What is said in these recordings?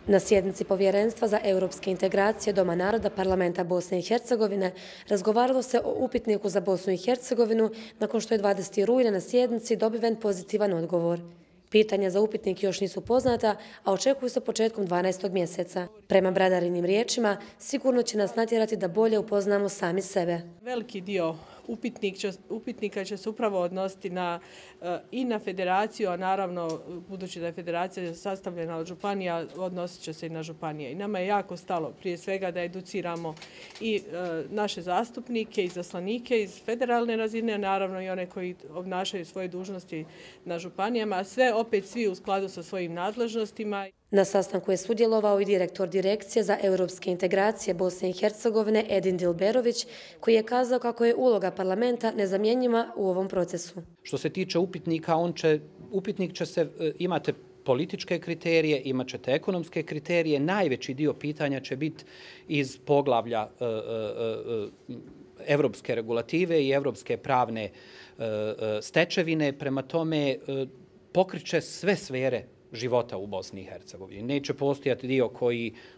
Na sjednici Povjerenstva za europske integracije Doma naroda Parlamenta Bosne i Hercegovine razgovaralo se o upitniku za Bosnu i Hercegovinu nakon što je 20. rujna na sjednici dobiven pozitivan odgovor. Pitanja za upitnik još nisu poznata, a očekuju se početkom 12. mjeseca. Prema Bradarinim riječima, sigurno će nas natjerati da bolje upoznamo sami sebe. Veliki dio upitnika će se upravo odnositi i na federaciju, a naravno, budući da je federacija sastavljena od županija, odnosit će se i na županije. I nama je jako stalo, prije svega, da educiramo i naše zastupnike i izaslanike iz federalne razine, a naravno i one koji obnašaju svoje dužnosti na županijama, a sve opet svi u skladu sa svojim nadležnostima. Na sastanku je sudjelovao i direktor Direkcije za europske integracije Bosne i Hercegovine Edin Dilberović, koji je kazao kako je uloga parlamenta nezamjenjiva u ovom procesu. Što se tiče upitnika, upitnik će se, imate političke kriterije, imat ćete ekonomske kriterije, najveći dio pitanja će biti iz poglavlja evropske regulative i evropske pravne stečevine, prema tome pokriće sve sfere života u Bosni i Hercegovini. Neće postojati dio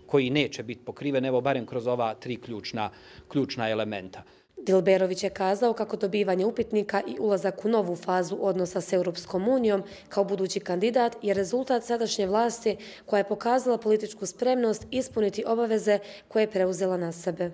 koji neće biti pokriven, evo barem kroz ova tri ključna elementa. Dilberović je kazao kako dobivanje upitnika i ulazak u novu fazu odnosa s Europskom unijom kao budući kandidat je rezultat sadašnje vlasti koja je pokazala političku spremnost ispuniti obaveze koje je preuzela na sebe.